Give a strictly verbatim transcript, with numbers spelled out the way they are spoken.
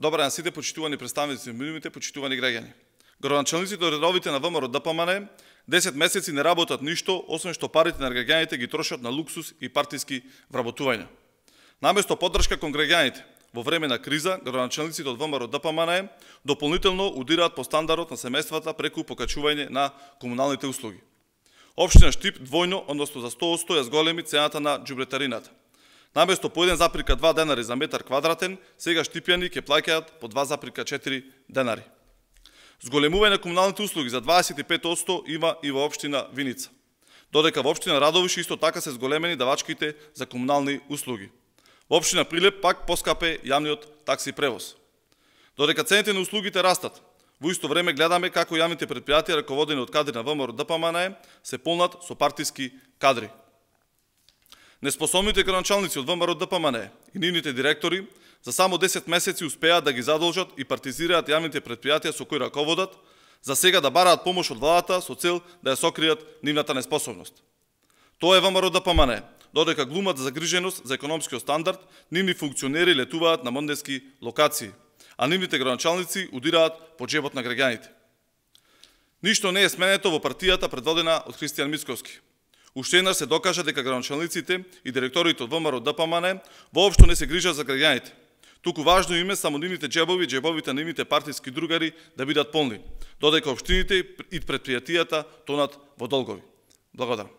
Добар ден сите почитувани представници на медиумите, почитувани граѓани. Градоначалниците редовите на ВМРО ДПМН десет месеци не работат ништо, освен што парите на граѓаните ги трошат на луксус и партиски вработувања. Наместо поддршка кон граѓаните, во време на криза, градоначалниците од ВМРО ДПМН дополнително удираат по стандардот на семејствата преку покачување на комуналните услуги. Општина Штип двојно, односно за сто одсто ја зголеми цената на џубретарината. Наместо по еден запирка два денари за метар квадратен, сега штипјани ќе плаќаат по два запирка четири денари. Зголемување на комуналните услуги за дваесет и пет одсто има и во општина Виница. Додека во општина Радовиш исто така се зголемени давачките за комунални услуги. Во општина Прилеп пак поскапе јавниот такси превоз. Додека цените на услугите растат, во исто време гледаме како јавните претпријатија раководени од кадри на ВМРО ДПМН се полнат со партиски кадри. Неспособните градоначалници од ВМРО ДПМН и нивните директори за само десет месеци успеаат да ги задолжат и партизираат јавните претпријатија со кои раководат, за сега да бараат помош од владата со цел да ја сокријат нивната неспособност. Тоа е ВМРО ДПМН, додека глумат загриженост за економскиот стандард, нивни функционери летуваат на мондески локации, а нивните градоначалници удираат по џебот на граѓаните. Ништо не е сменето во партијата предводена од Христијан Мицковски. Уште еднаш се докажа дека градоначалниците и директорите од ВМРО ДПМН воопшто не се грижат за граѓаните. Туку важно име само нивните џебови, џебовите на нивните партиски другари да бидат полни, додека општините и претпријатијата тонат во долгови. Благодарам.